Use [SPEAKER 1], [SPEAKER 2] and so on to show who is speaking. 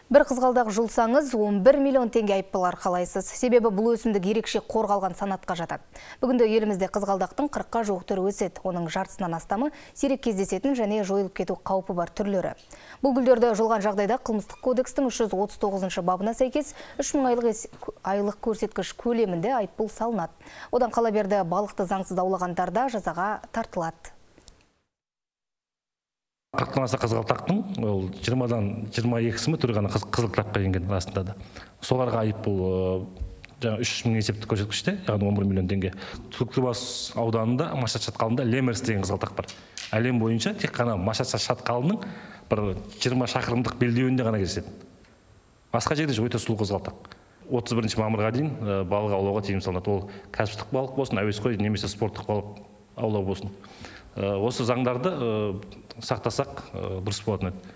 [SPEAKER 1] Бір қызғалдақ жұлсаңыз 11 миллион теңге айыппұл арқалайсыз. Себебі бұл өсімдік ерекше қорғалған санатқа жатады. Бүгінде елімізде қызғалдақтың 40-қа жуық түрі өседі. Оның жартысынан астамы сирек кездесетін және жойылып кету қаупі бар түрлері. Бұл гүлдерді жұлған жағдайда қылмыстық кодекстің 339 бабына сәйкес 3000 айлық көрсеткіш көлемінде айыппұл салынады. Одан қала берді балықты заңсыз аулағандар да жазаға тартылады.
[SPEAKER 2] Қырықтан аса қызғалдақтың 20-дан 22-сі түрі ғана қызыл кітапқа енген расында да. Соларға айыппұл 3000 есептік көрсеткіште, яғни 11 миллион теңге. Түлкібас ауданында Машат шатқалында Лемерс деген қызғалдақ бар. Әлем бойынша тек қана Машат шатқалының бір 20 шақырымдық белдеуінде ғана кездеседі. Басқа жерде өте сұлу қызғалдақ. 31 мамырға дейін балық аулауға тыйым салынады. Ол кәсіптік балық болсын, әуесқой немесе спорттық балық аулау болсын. Осы заңдарды сақтасақ дұрыс болатын еді.